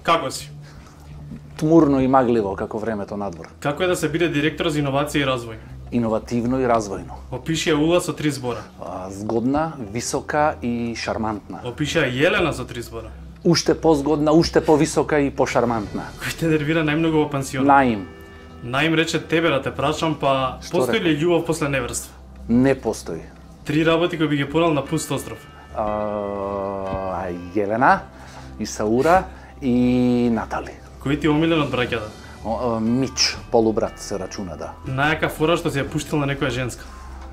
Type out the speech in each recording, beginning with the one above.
Како си? Тмурно и магливо како времето надвор. Како е да се биде директор за иновација и развој? Иновативно и развојно. Опиши ја Ула со 3 збора. Згодна, висока и шармантна. Опиши ја Јелена со 3 збора. Уште позгодна, уште повисока и пошармантна. Кој те нервира најмногу во пансионот? Наим. Наим рече тебе да те прашам, па Што постои ли љубов после неврство? Не постои. 3 работи кои би ги порал на пуст остров. Јелена, Исаура и Натали. Кој ти е омилен од браќата? Мич, полубрат се рачуна, да. Најака фора што си ја пуштил на некоја женска.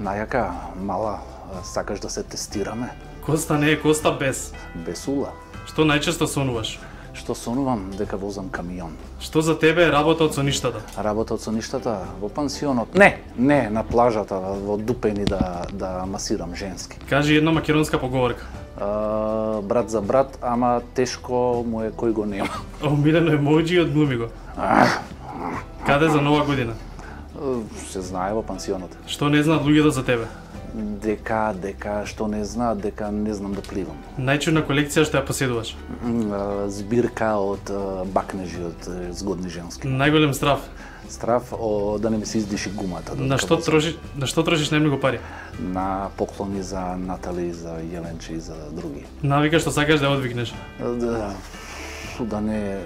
Најака, мала, сакаш да се тестираме? Коста не е коста без. Без ула. Што најчесто сонуваш? Што сонувам дека возам камион. Што за тебе е работа од соништата? Работа од соништата во пансионот. Не, на плажата, во Дупени да масирам женски. Кажи една македонска поговорка. Брат за брат, ама тешко му е кој го нема. Омилено емоџи од глуми го. Каде за нова година? Се знае во пансионот. Што не знаат луѓето за тебе? Дека што не знаат, дека не знам да пливам. Најчудна колекција што ја поседуваш? Збирка од бакнежи од згодни женски. Најголем страв? Страв да не ми се издиши гумата. На што трошиш најмногу пари? На поклони за Натали, за Јеленче и за други. Навика што сакаш да одвигнеш? Да не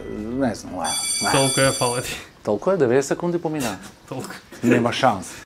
знам. Толку е, фала ти. Толку е, 90 секунди помина. Толку. Нема шанс.